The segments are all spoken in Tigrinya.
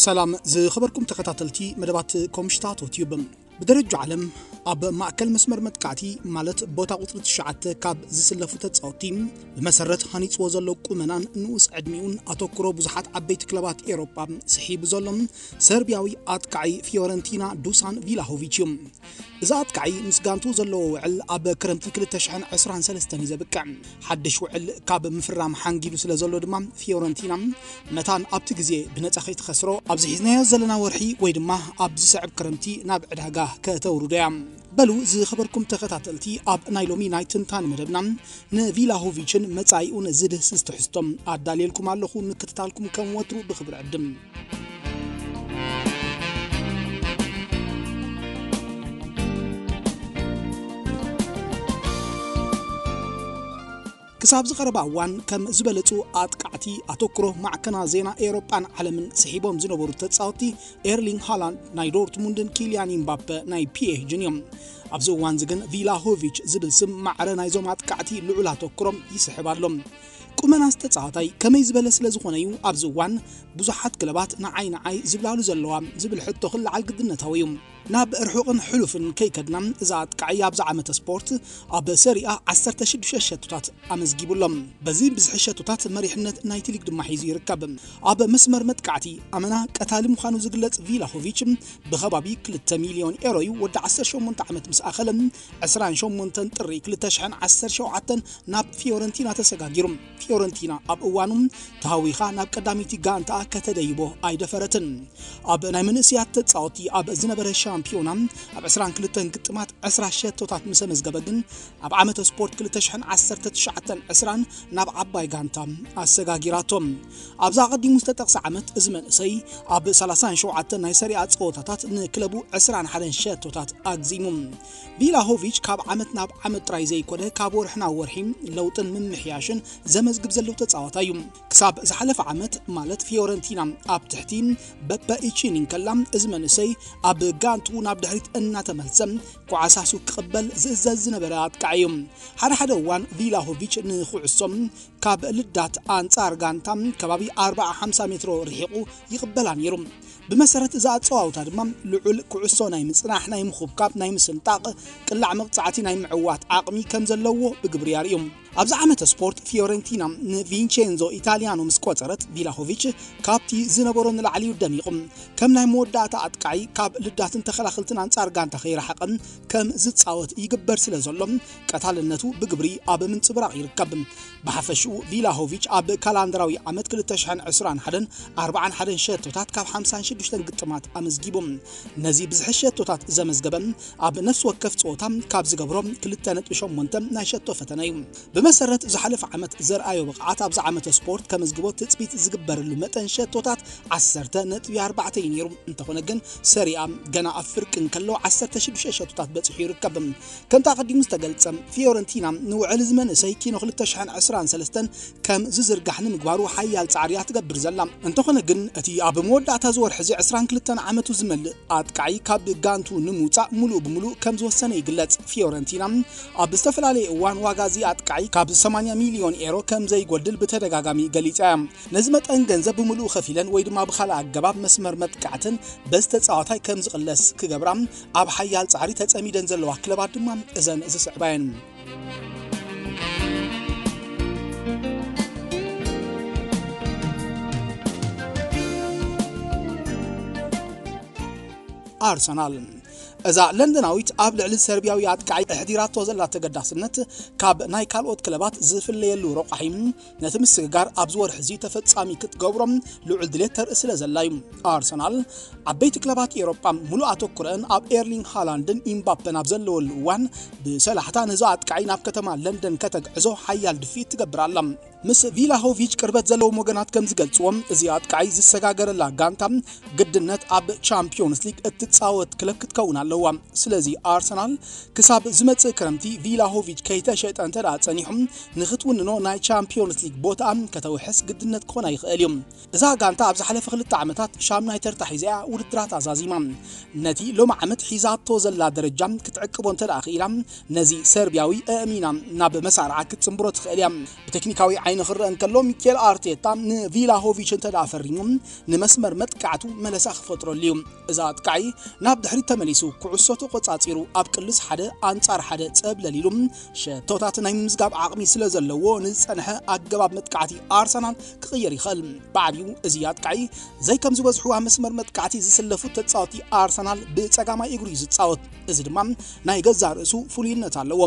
ሰላም ዝኸበርኩም ተኸታተልቲ መደባት ኮምሽታቶ ቲዩብ። ብደረጃ ዓለም ኣብ ማእከል መስመር መጥቃዕቲ፣ ማለት ቦታ ቁጽሪ ትሽዓተ ካብ ዝስለፉ ተጻወትቲ፣ ብመሰረት ሃኒጽዎ ዘሎ ቁመናን ንኡስ ዕድሚኡን ኣተኩሮ ብዙሓት ዓበይቲ ክለባት ኤውሮጳ ስሒቡ ዘሎ ሰርቢያዊ ኣጥቃዒ ፊዮረንቲና ዱሳን ቪላሆቪች እዩ። እዚ ኣጥቃዒ ምስ ጋንቱ ዘለዎ ውዕል ኣብ ክረምቲ ክልተ ሽሕን ዕስራን ሰለስተን እዩ ዘብቅዕ። ሓድሽ ውዕል ካብ ምፍራም ሓንጊዱ ስለ ዘሎ ድማ፣ ፊዮረንቲና መታን ኣብቲ ግዜ ብነጻ ከይትኸስሮ፣ ኣብዚ ሒዝናዮ ዘለና ወርሒ ወይ ድማ ኣብ ዝስዕብ ክረምቲ ናብ ዕዳጋ ከተውርዶ እያ። በሉ ዝኸበርኩም ተኸታተልቲ፣ ኣብ ናይ ሎሚ ናይ ትንታነ መደብና ንቪላሆቪችን መጻኢኡን ዝድህስስ ትሕዝቶ ኣዳልየልኩም ኣለኹ። ምክትታልኩም ከም ወትሩ ብኽብሪ ዕድም። ክሳብ ዝቐረባ እዋን ከም ዝበለጹ ኣጥቃዕቲ ኣተኩሮ ማዕከና ዜና ኤውሮጳን ዓለምን ስሒቦም ዝነበሩ ተጻወትቲ፣ ኤርሊንግ ሃላንድ ናይ ዶርትሙንድን ኪልያን ኢምባፐ ናይ ፒኤስጂን እዮም። ኣብዚ እዋን እዚ ግን ቪላሆቪች ዝብል ስም ማዕረ ናይዞም ኣጥቃዕቲ ልዑል ኣተኩሮ ይስሕብ ኣሎ። ቁመናስ ተጻዋታይ ከመይ ዝበለ ስለ ዝኾነ እዩ ኣብዚ እዋን ብዙሓት ክለባት ንዓይ ንዓይ ዝብላሉ ዘለዋ ዝብል ሕቶ ክለዓል ግድነታዊ እዩ። ናብ ርሑቕን ሕሉፍን ከይከድና፣ እዚ ኣጥቃዒ ኣብዚ ዓመተ ስፖርት ኣብ ሰሪኣ ዓሰርተ ሽዱሽተ ሸቶታት ኣመዝጊቡ ኣሎ። በዚ ብዝሒ ሸቶታት መሪሕነት ናይቲ ሊግ ድማ ሒዙ ይርከብ። ኣብ መስመር መጥቃዕቲ ኣመና ቀታሊ ምዃኑ ዝግለጽ ቪላሆቪች፣ ብኸባቢ ክልተ ሚልዮን ኤሮ እዩ ወዲ ዓሰርተ ሸሞንተ ዓመት ምስ ኣኸለ፣ ዕስራን ሸሞንተን ጥሪ ክልተ ሽሕን ዓሰርተ ሸውዓተን ናብ ፊዮረንቲና ተሰጋጊሩ። ፊዮረንቲና ኣብ እዋኑ ተሃዊኻ ናብ ቀዳመይቲ ጋንታኣ ከተደይቦ ኣይደፈረትን። ኣብ ናይ መንእሰያት ተጻወቲ ኣብ ዝነበረ ሻምፒዮና፣ ኣብ ዕስራን ክልተን ግጥማት ዕስራ ሸቶታት ምስ ኣመዝገበ ግን፣ ኣብ ዓመተ ስፖርት ክልተ ሽሕን ዓሰርተ ትሽዓተን ዕስራን ናብ ዓባይ ጋንታ ኣሰጋጊራቶ። ኣብዛ ኣቐዲሙ ዝተጠቕሰ ዓመት፣ እዚ መንእሰይ ኣብ ሰላሳን ሸውዓተን ናይ ሰሪኣ ጸወታታት ንክለቡ ዕስራን ሓደን ሸቶታት ኣግዚሙ። ቪላሆቪች ካብ ዓመት ናብ ዓመት ጥራይ ዘይኮነ፣ ካብ ወርሒ ናብ ወርሒ ለውጥን ምምሕያሽን ዘመዝግብ ዘሎ ተጻዋታይ እዩ። ክሳብ ዝሓለፈ ዓመት፣ ማለት ፊዮረንቲና ኣብ ትሕቲ በፐ ኢቺኒ እንከላ፣ እዚ መንእሰይ ኣብ ጋንቱ ናብ ድሕሪት እናተመልሰ ኳዕሳሱ ክቕበል ዝእዘዝ ዝነበረ ኣጥቃዒ እዩ። ሓደ ሓደ እዋን ቪላሆቪች ንኩዕሶ ካብ ልዳት ኣንጻር ጋንታ ከባቢ ኣርብዓ ሓምሳ ሜትሮ ርሒቑ ይቕበላ ነይሩ። ብመሰረት እዚ ኣጸዋውታ ድማ፣ ልዑል ኩዕሶ ናይ ምጽናሕ፣ ናይ ምኹብካብ፣ ናይ ምስንጣቕ፣ ቅላዕ መቕጻዕቲ ናይ ምዕዋት ዓቕሚ ከም ዘለዎ ብግብሪ ኣርእዩ። ኣብዚ ዓመተ ስፖርት፣ ፊዮረንቲና ንቪንቼንዞ ኢታሊያኖ ምስ ቆጸረት፣ ቪላሆቪች ካብቲ ዝነበሮ ንላዕሊ እዩ ደሚቑ። ከም ናይ መወዳእታ ኣጥቃዒ፣ ካብ ልዳትን ተኸላኸልትን ኣንጻር ጋንታ ከይረሓቐ ከም ዝጻወት ይግበር ስለ ዘሎ፣ ቀታልነቱ ብግብሪ ኣብ ምንጽብራቕ ይርከብ። ብሓፈሽኡ፣ ቪላሆቪች ኣብ ካላንደራዊ ዓመት ክልተ ሽሕን ዕስራን ሓደን ኣርብዓን ሓደን ሸቶታት ካብ ሓምሳን ሽዱሽተን ግጥማት ኣመዝጊቡ። ነዚ ብዝሒ ሸቶታት ዘመዝገበ፣ ኣብ ነፍሲ ወከፍ ጸወታ ካብ ዝገብሮ ክልተ ነጥቢ ሸሞንተ ናይ ሸቶ ፈተነ እዩ። ብመሰረት ዝሓለፈ ዓመት ዘርኣዮ ብቕዓት፣ ኣብዚ ዓመተ ስፖርት ከመዝግቦ ትጽቢት ዝግበረሉ መጠን ሸቶታት ዓሰርተ ነጥቢ ኣርባዕተ እዩ ነይሩ። እንተኾነ ግን፣ ሰሪኣ ገና ኣብ ፍርቂ እንከሎ ዓሰርተ ሽዱሽተ ሸቶታት በጺሑ ይርከብ። ከምቲ ኣቐዲሙ ዝተገልጸ፣ ፊዮረንቲና ንውዕል እዚ መንእሰይ ኪኖ ክልተ ሽሕን ዕስራን ሰለስተን ከም ዝዝርጋሕ ንምግባሩ ሓያል ጻዕሪ እያ ትገብር ዘላ። እንተኾነ ግን፣ እቲ ኣብ መወዳእታ እዚ ወርሒ እዚ ዕስራን ክልተን ዓመቱ ዝመልእ ኣጥቃዒ ካብ ጋንቱ ንምውጻእ ምሉእ ብምሉእ ከም ዝወሰነ ይግለጽ። ፊዮረንቲና ኣብ ዝተፈላለየ እዋን ዋጋ እዚ ኣጥቃዒ ካብ ሰማንያ ሚልዮን ኤሮ ከም ዘይጎድል ብተደጋጋሚ ገሊጻ እያ። ነዚ መጠን ገንዘብ ብምሉኡ ከፊለን ወይ ድማ ብኻልእ ኣገባብ መስመር መጥቃዕትን በዚ ተጻዋታይ ከም ዝቕለስ ክገብራ ኣብ ሓያል ጻዕሪ ተጸሚደን ዘለዋ ክለባት ድማ እዘን ዝስዕባ እየን። ኣርሰናል። እዛ ለንደናዊት ኣብ ልዕሊ ሰርቢያዊ ኣጥቃዒ ኣሕዲራቶ ዘላ ተገዳስነት፣ ካብ ናይ ካልኦት ክለባት ዝፍለየሉ ረቋሒ፣ ነቲ ምስግጋር ኣብዚ ወርሒ እዚ ተፈጻሚ ክትገብሮ ልዑል ድሌት ተርኢ ስለ ዘላ እዩ። ኣርሰናል፣ ዓበይቲ ክለባት ኤውሮጳ ምሉእ ኣተኩረአን ኣብ ኤርሊንግ ሃላንድን ኢምባፐን ኣብ ዘለወሉ እዋን፣ ብሰላሕታ ነዚ ኣጥቃዒ ናብ ከተማ ለንደን ከተግዕዞ ሓያል ድፍኢት ትገብር ኣላ። ምስ ቪላሆቪች ቅርበት ዘለዎም ወገናት ከም ዝገልጽዎ፣ እዚ ኣጥቃዒ ዝሰጋገረላ ጋንታ ግድነት ኣብ ቻምፒዮንስ ሊግ እትጻወት ክለብ ክትከውን ኣለዋ። ስለዚ፣ ኣርሰናል ክሳብ ዝመጽእ ክረምቲ ቪላሆቪች ከይተሸጠ እንተ ደኣ ጸኒሑ፣ ንኽትውንኖ ናይ ቻምፒዮንስ ሊግ ቦታኣ ከተውሕስ ግድነት ክኾና ይኽእል እዩ። እዛ ጋንታ ኣብ ዝሓለፈ ክልተ ዓመታት ሻምናይ ተርታ ሒዛ እያ ውድድራት ኣዛዚማ። ነቲ ሎሚ ዓመት ሒዛቶ ዘላ ደረጃ ክትዕቅቦ እንተ ደኣ ክኢላ፣ ነዚ ሰርቢያዊ ኣእሚና ናብ መሳርዓ ክትጽንብሮ ትኽእል እያ። ብቴክኒካዊ ንኽረአ እንከሎ፣ ሚኬል ኣርቴታ ንቪላሆቪች እንተ ደኣ ፈሪሙ፣ ንመስመር መጥቃዕቱ መለሳ ክፈጥረሉ እዩ። እዛ ኣጥቃዒ ናብ ድሕሪት ተመሊሱ፣ ኩዕሶ ተቖጻጺሩ፣ ኣብ ቅልስ ሓደ ኣንጻር ሓደ ጸብለል ኢሉ፣ ሸቶታት ናይ ምምዝጋብ ዓቕሚ ስለ ዘለዎ፣ ንዝጸንሐ ኣገባብ መጥቃዕቲ ኣርሰናል ክቕይር ይኽእል። ብዓቢኡ እዚ ኣጥቃዒ፣ ዘይ ከም ዝበዝሑ ኣብ መስመር መጥቃዕቲ ዝስለፉ ተጻወቲ ኣርሰናል ብጸጋማይ እግሩ እዩ ዝጻወት። እዚ ድማ ናይ ገዛእ ርእሱ ፍሉይነት ኣለዎ።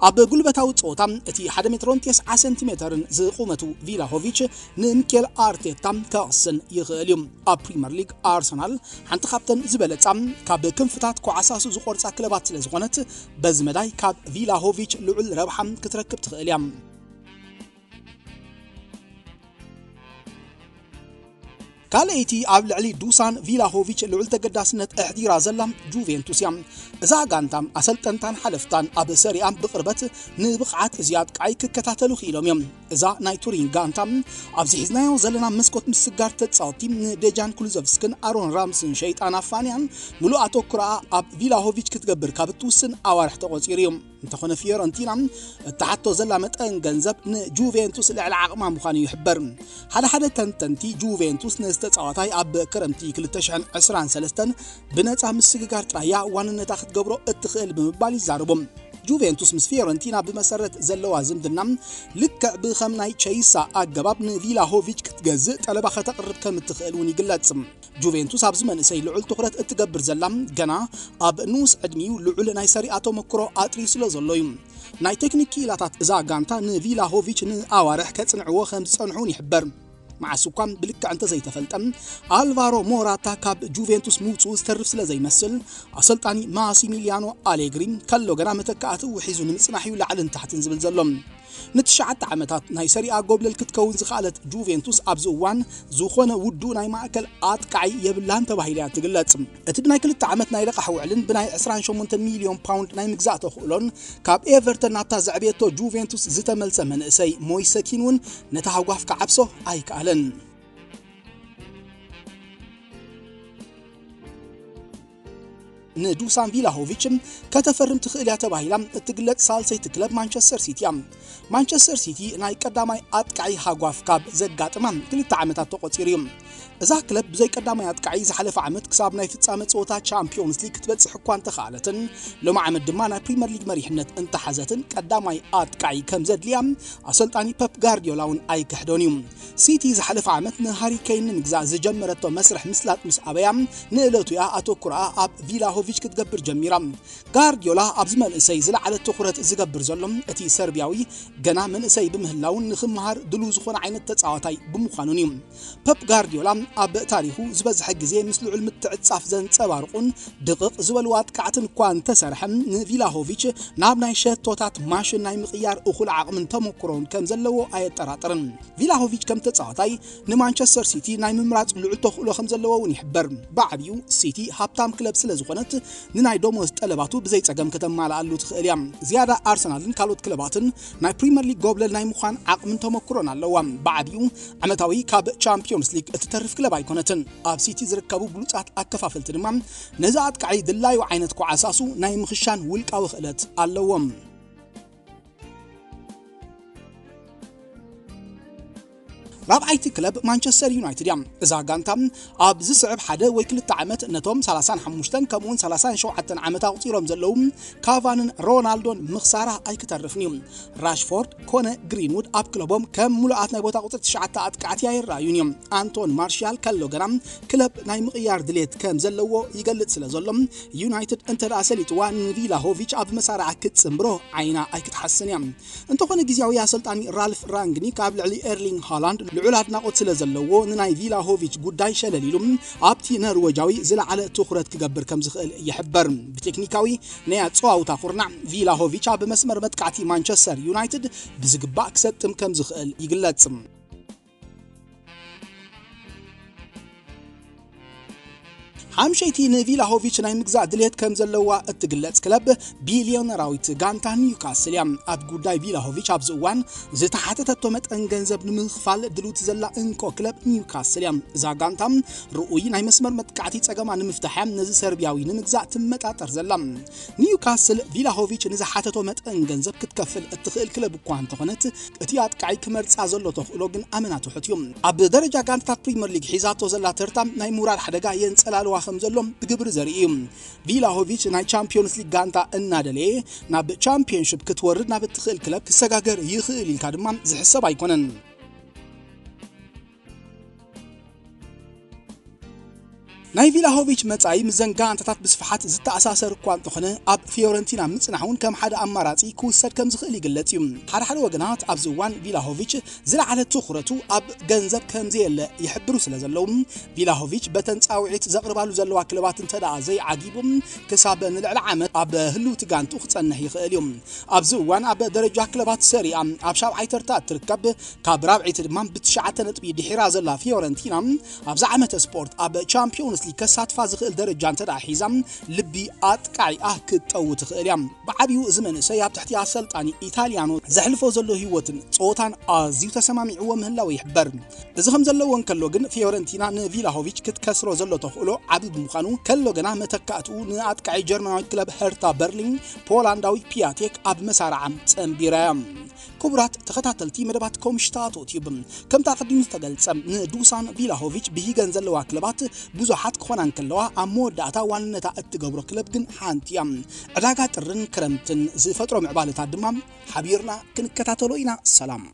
ኣብ ጉልበታዊ ጸወታ፣ እቲ ሓደ ሜትሮን ተስዓ ሰንቲሜተርን ዝቑመቱ ቪላሆቪች ንሚኬል ኣርቴታ ከቕስን ይኽእል እዩ። ኣብ ፕሪምየር ሊግ ኣርሰናል ሓንቲ ካብተን ዝበለጻ፣ ካብ ክንፍታት ኮዓሳሱ ዝቖርጻ ክለባት ስለ ዝኾነት፣ በዚ መዳይ ካብ ቪላሆቪች ልዑል ረብሓ ክትረክብ ትኽእል እያ። ካልኣይቲ ኣብ ልዕሊ ዱሳን ቪላሆቪች ልዑል ተገዳስነት ኣሕዲራ ዘላ ጁቬንቱስ እያ። እዛ ጋንታ ኣሰልጠንታን ሓለፍታን ኣብ ሰሪኣ ብቕርበት ንብቕዓት እዚ ኣጥቃዒ ክከታተሉ ክኢሎም እዮም። እዛ ናይ ቱሪን ጋንታ ኣብዚ ሒዝናዮ ዘለና መስኮት ምስጋር ተጻወቲ ንዴጃን ኩሉዘቭስክን ኣሮን ራምስን ሸይጣን ኣፋንያን ምሉእ ኣተኩሮኣ ኣብ ቪላሆቪች ክትገብር ካብ እትውስን ኣዋርሕ ተቖጺሩ እዩ። እንተኾነ ፊዮረንቲና እትሓቶ ዘላ መጠን ገንዘብ ንጁቬንቱስ ልዕሊ ዓቕማ ምዃኑ ይሕበር። ሓደ ሓደ ተንተንቲ ጁቬንቱስ ነዚ ተጻዋታይ ኣብ ክረምቲ ክልተ ሽሕን ዕስራን ሰለስተን ብነጻ ምስግጋር ጥራይ እያ ዋንነታ ክትገብሮ እትኽእል ብምባል ይዛረቡ። ጁቬንቱስ ምስ ፊዮረንቲና ብመሰረት ዘለዋ ዝምድና ልክዕ ብኸም ናይ ቸይሳ ኣገባብ ንቪላሆቪች ክትገዝእ ጠለባ ከተቕርብ ከም እትኽእል እውን ይግለጽ። ጁቬንቱስ ኣብዚ መንእሰይ ልዑል ትኹረት እትገብር ዘላ፣ ገና ኣብ ንኡስ ዕድሚኡ ልዑል ናይ ሰሪኣ ተመክሮ ኣጥርዩ ስለ ዘሎ እዩ። ናይ ቴክኒክ ክኢላታት እዛ ጋንታ ንቪላሆቪች ንኣዋርሕ ከጽንዕዎ ከም ዝጸንሑ እውን ይሕበር። መዓስ እኳ ብልክዕ እንተዘይተፈልጠ፣ ኣልቫሮ ሞራታ ካብ ጁቬንቱስ ምውጽኡ ዝተርፍ ስለ ዘይመስል፣ ኣሰልጣኒ ማሲሚሊያኖ ኣሌግሪ ከሎ ገና መተካእትኡ ሒዙ ንምጽናሕ እዩ ላዕልን ታሕትን ዝብል ዘሎ። ንትሽዓተ ዓመታት ናይ ሰሪኣ ጎብለል ክትከውን ዝኸኣለት ጁቬንቱስ ኣብዚ እዋን ዝኾነ ውዱእ ናይ ማእከል ኣጥቃዒ የብላን ተባሂላ እያ ትግለጽ። እቲ ብናይ ክልተ ዓመት ናይ ልቓሕ ውዕልን ብናይ ዕስራን ሸሞንተን ሚልዮን ፓውንድ ናይ ምግዛእ ተኽእሎን ካብ ኤቨርተን ናብታ ዘዕበየቶ ጁቬንቱስ ዝተመልሰ መንእሰይ ሞይሰ ኪን እውን ነታ ሃጓፍ ክዓብሶ ኣይከኣለን። ንዱሳን ቪላሆቪች ከተፈርም ትኽእል እያ ተባሂላ እትግለጽ ሳልሰይቲ ክለብ ማንቸስተር ሲቲ እያ። ማንቸስተር ሲቲ ናይ ቀዳማይ ኣጥቃዒ ሃጓፍ ካብ ዘጋጥማ ክልተ ዓመታት ተቖጺሩ እዩ። እዛ ክለብ ብዘይ ቀዳማይ ኣጥቃዒ ዝሓለፈ ዓመት ክሳብ ናይ ፍጻመ ጸወታ ቻምፒዮንስ ሊግ ክትበጽሕ እኳ እንተኸኣለትን፣ ሎሚ ዓመት ድማ ናይ ፕሪምየር ሊግ መሪሕነት እንተሓዘትን ቀዳማይ ኣጥቃዒ ከም ዘድልያ ኣሰልጣኒ ፐፕ ጋርዲዮላ እውን ኣይክሕዶን እዩ። ሲቲ ዝሓለፈ ዓመት ንሃሪ ኬን ንምግዛእ ዝጀመረቶ መስርሕ ምስላጥ ምስ ኣበያ፣ ንእለቱ እያ ኣተኩሮኣ ኣብ ቪላሆቪች ክትገብር ጀሚራ። ጋርዲዮላ ኣብዚ መንእሰይ ዝለዓለ ትኹረት ዝገብር ዘሎ፣ እቲ ሰርቢያዊ ገና መንእሰይ ብምህላውን ንኽመሃር ድሉው ዝኾነ ዓይነት ተጻዋታይ ብምዃኑን እዩ። ፐፕ ጋርዲዮላ ኣብ ታሪኹ ዝበዝሐ ግዜ ምስ ልዑል ምትዕጻፍ ዘንጸባርቑን ድቕቕ ዝበሉ ኣጥቃዕትን እኳ እንተሰርሐ፣ ንቪላሆቪች ናብ ናይ ሸቶታት ማሽን ናይ ምቕያር እኹል ዓቕምን ተመኩሮን ከም ዘለዎ ኣየጠራጥርን። ቪላሆቪች ከም ተጻዋታይ ንማንቸስተር ሲቲ ናይ ምምራጽ ልዑል ተኽእሎ ከም ዘለዎ እውን ይሕበር። ብዓቢኡ ሲቲ ሃብታም ክለብ ስለ ዝኾነት፣ ንናይ ደሞዝ ጠለባቱ ብዘይ ጸገም ከተማልኣሉ ትኽእል እያ። ዝያዳ ኣርሰናልን ካልኦት ክለባትን ናይ ፕሪምየር ሊግ ጎብለል ናይ ምዃን ዓቕምን ተመኩሮን ኣለዋ። ብዓቢኡ ዓመታዊ ካብ ቻምፒዮንስ ሊግ እትተርፍ ክለብ ኣይኮነትን። ኣብ ሲቲ ዝርከቡ ብሉጻት ኣከፋፈልቲ ድማ ነዚ ኣጥቃዒ ድላዩ ዓይነት ኮዓሳሱ ናይ ምኽሻን ውልቃዊ ክእለት ኣለዎም። ራብዓይቲ ክለብ ማንቸስተር ዩናይትድ እያ። እዛ ጋንታ ኣብ ዝስዕብ ሓደ ወይ ክልተ ዓመት ነቶም ሰላሳን ሓሙሽተን ከምኡውን ሰላሳን ሸውዓተን ዓመት ኣቑጺሮም ዘለዉ ካቫንን ሮናልዶን ምኽሳራ ኣይክተርፍን እዩ። ራሽፎርድ ኮነ ግሪንውድ ኣብ ክለቦም ከም ሙሉኣት ናይ ቦታ ቁጽሪ ትሽዓተ ኣጥቃዕቲ ኣይረኣዩን እዮም። ኣንቶን ማርሻል ከሎ ገና ክለብ ናይ ምቕያር ድሌት ከም ዘለዎ ይገልጽ ስለ ዘሎ፣ ዩናይትድ እንተ ደኣ ሰሊጥዋ ንቪላሆቪች ኣብ መሳርዓ ክትጽንብሮ ዓይና ኣይክትሓስን እያ። እንተኾነ ግዝያዊ ኣሰልጣኒ ራልፍ ራንግኒክ ኣብ ልዕሊ ኤርሊንግ ሃላንድ ልዑል ኣድናቖት ስለ ዘለዎ ንናይ ቪላሆቪች ጉዳይ ሸለል ኢሉ ኣብቲ ነርወጃዊ ዝለዓለ ትኹረት ክገብር ከም ዝኽእል ይሕበር። ብቴክኒካዊ ናይ ኣጸዋውታ ኩርናዕ ቪላሆቪች ኣብ መስመር መጥቃዕቲ ማንቸስተር ዩናይትድ ብዝግባእ ክሰጥም ከም ዝኽእል ይግለጽ። ሓምሸይቲ ንቪላሆቪች ናይ ምግዛእ ድልየት ከም ዘለዋ እትግለጽ ክለብ ቢልዮነራዊት ጋንታ ኒውካስል እያ። ኣብ ጉዳይ ቪላሆቪች ኣብዚ እዋን ዝተሓተተቶ መጠን ገንዘብ ንምኽፋል ድሉት ዘላ እንኮ ክለብ ኒውካስል እያ። እዛ ጋንታ ርኡይ ናይ መስመር መጥቃዕቲ ጸገማ ንምፍታሕ እያ ነዚ ሰርቢያዊ ንምግዛእ ትመጣጠር ዘላ። ኒውካስል ቪላሆቪች ንዝሓተቶ መጠን ገንዘብ ክትከፍል እትኽእል ክለብ እኳ እንተኾነት፣ እቲ ኣጥቃዒ ክመርጻ ዘሎ ተኽእሎ ግን ኣመና ትሑት እዩ። ኣብ ደረጃ ጋንታታት ፕሪምየር ሊግ ሒዛቶ ዘላ ተርታ ናይ ምውራድ ሓደጋ የንጸላልዋ ከም ዘሎ ብግብሪ ዘርኢ እዩ። ቪላሆቪች ናይ ቻምፒዮንስ ሊግ ጋንታ እናደለየ ናብ ቻምፒዮንሺፕ ክትወርድ ናብ እትኽእል ክለብ ክሰጋገር ይኽእል ኢልካ ድማ ዝሕሰብ ኣይኮነን። ናይ ቪላሆቪች መጻኢ ምስ ዘን ጋንታታት ብስፍሓት ዝተኣሳሰር እኳ እንተኾነ፣ ኣብ ፊዮረንቲና ምጽናሕ እውን ከም ሓደ ኣማራጺ ክውሰድ ከም ዝኽእል ይግለጽ እዩ። ሓደ ሓደ ወገናት ኣብዚ እዋን ቪላሆቪች ዝለዓለ ትኹረቱ ኣብ ገንዘብ ከም ዘየለ ይሕብሩ ስለ ዘለዉ፣ ቪላሆቪች በተን ጻውዒት ዘቕርባሉ ዘለዋ ክለባት እንተ ደኣ ዘይዓጊቡ፣ ክሳብ ንልዕሊ ዓመት ኣብ ህልውቲ ጋንቱ ክጸንሕ ይኽእል እዩ። ኣብዚ እዋን ኣብ ደረጃ ክለባት ሰሪኣ ኣብ ሻብዓይ ተርታ እትርከብ፣ ካብ ራብዒቲ ድማ ብትሽዓተ ነጥቢ ድሒራ ዘላ ፊዮረንቲና፣ ኣብዚ ዓመተ ስፖርት ኣብ ቻምፒዮንስ ሊግ ከሳትፋ ዝኽእል ደረጃ እንተ ደኣ ሒዛ፣ ልቢ ኣጥቃዒኣ ክትጠው ትኽእል እያ። ብዓብዩ እዚ መንእሰይ ኣብ ትሕቲ ኣሰልጣኒ ኢታልያኖ ዘሕልፎ ዘሎ ህይወትን ጸወታን ኣዝዩ ተሰማሚዕዎ ምህላው ይሕበር። እዚ ከም ዘለዎ እንከሎ ግን፣ ፊዮረንቲና ንቪላሆቪች ክትከስሮ ዘሎ ተኽእሎ ዓቢ ብምዃኑ፣ ከሎ ገና መተካእትኡ ንኣጥቃዒ ጀርመናዊ ክለብ ሄርታ በርሊን ፖላንዳዊ ፒያቴክ ኣብ መሳርዓ ጸንቢራ እያ። ክቡራት ተኸታተልቲ መደባት ኮምሽታቶ ቲዩብ፣ ከምቲ ኣቐዲሙ ዝተገልጸ፣ ንዱሳን ቪላሆቪች ብሂገን ዘለዋ ክለባት ብዙሓት ክኾና እንከለዋ፣ ኣብ መወዳእታ ዋንነታ እትገብሮ ክለብ ግን ሓንቲ እያ። ዕዳጋ ጥርን ክረምትን ዝፈጥሮ ምዕባለታት ድማ ሓቢርና ክንከታተሎ ኢና። ሰላም።